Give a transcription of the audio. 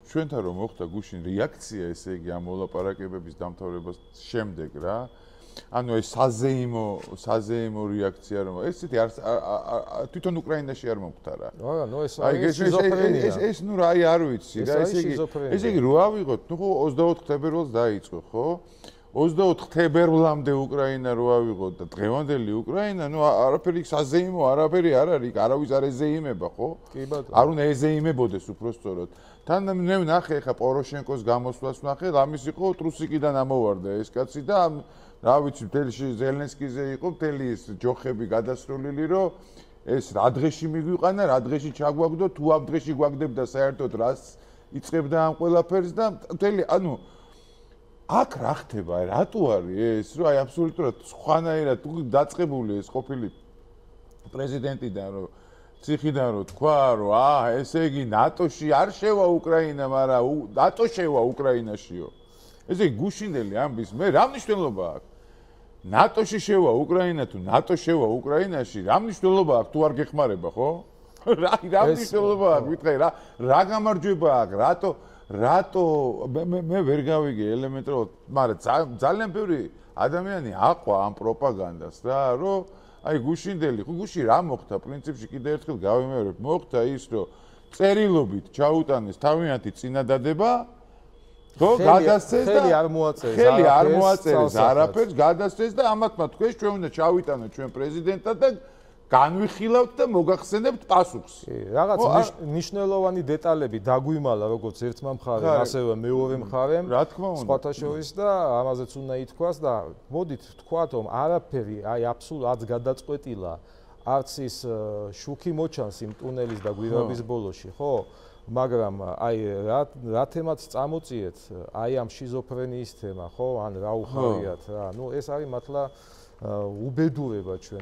ჩვენთან რომ მოხდა გუშინ რეაქცია, ესე იგი ამ მოლაპარაკებების დამთავრებას შემდეგ რა. ანუ ეს საზეიმო რეაქცია რომ ესეთი თვითონ უკრაინაში არ მომხდარა. არა, ნუ ეს შიზოფრენია. ეს ნუ რა არ ვიცი რა, ესე იგი რო ავიღოთ, ნუ ხო 24 თებერვალს დაიწყო, ხო? 24 თებერვლამდე უკრაინა რო ავიღოთ და დღევანდელი უკრაინა, ნუ არაფერი საზეიმო, არაფერი არ არის, არავის არ ეზეიმება, ხო? კი ბატონო. არ უნდა ეზეიმებოდეს უბრალოდ. თან მე ვნახე ხა პოროშენკოს გამოსვლას ვნახე, ამის იყო ტრუსიკიდან ამოვარდა ეს კაცი და რა ვიცი, მთელი ზელენსკიზე იყო, მთელი ეს ჯოხები გადასრულილი, რომ ეს რა დღეში მიგვიყანა, რა დღეში ჩაგვაგდო, თუ ამ დღეში გვაგდებდა საერთოდ რას იწყებდა ამ ყველაფერს და მთელი, ანუ აქ რა ხდება, რატო არის ეს, რომ აი აბსოლუტურად სხვანაირად დაწყებული ეს ყოფილი პრეზიდენტიდან, რომ ციხიდან რომ თქვა, რომ ესე იგი ნატოში არ შევა უკრაინა, მაგრამ ნატო შევა უკრაინაშიო. ესე იგი გუშინდელი ამბის მე რა მნიშვნელობა აქვს? ნატოში შევა უკრაინა თუ ნატო შევა უკრაინაში, რა მნიშვნელობა აქვს თუ არ გეხმარება, ხო? რა მნიშვნელობა აქვს, ვიტყვი რა გამარჯვება აქვს, რატო მე ვერ გავიგე ელემენტარულად, მაგრამ ძალიან ბევრი ადამიანი აყვა ამ პროპაგანდას რა, რომ აი გუშინდელი, გუში რა მოხდა პრინციპში კიდე ერთხელ გავიმეორებ, მოხდა ის, რომ წერილობით ჩაუტანეს თავიანთი წინადადება, ხო, გადასცეს და ხელი არ მოაწერეს არაფერს, გადასცეს და ამათმა თქვეს ჩვენ უნდა ჩავიტანოთ ჩვენ პრეზიდენტად და განვიხილავთ და მოგახსენებთ პასუხს. რაღაც მნიშვნელოვანი დეტალები დაგვიმალა როგორც ერთმა მხარემ, ასევე მეორე მხარემ, სხვათა შორის და ამაზეც უნდა ითქვას და მოდით ვთქვათ, რომ არაფერი აი აბსოლუტურად გადაწყვეტილა არც ის შუქი მოჩანს იმ ტუნელის და გვირაბის ბოლოში, ხო? მაგრამ აი რა თემაც წამოწიეთ, აი ამ შიზოფრენიის თემა, ხო? ან რა უხარიათ რა. ნუ ეს არის მართლა უბედურება ჩვენ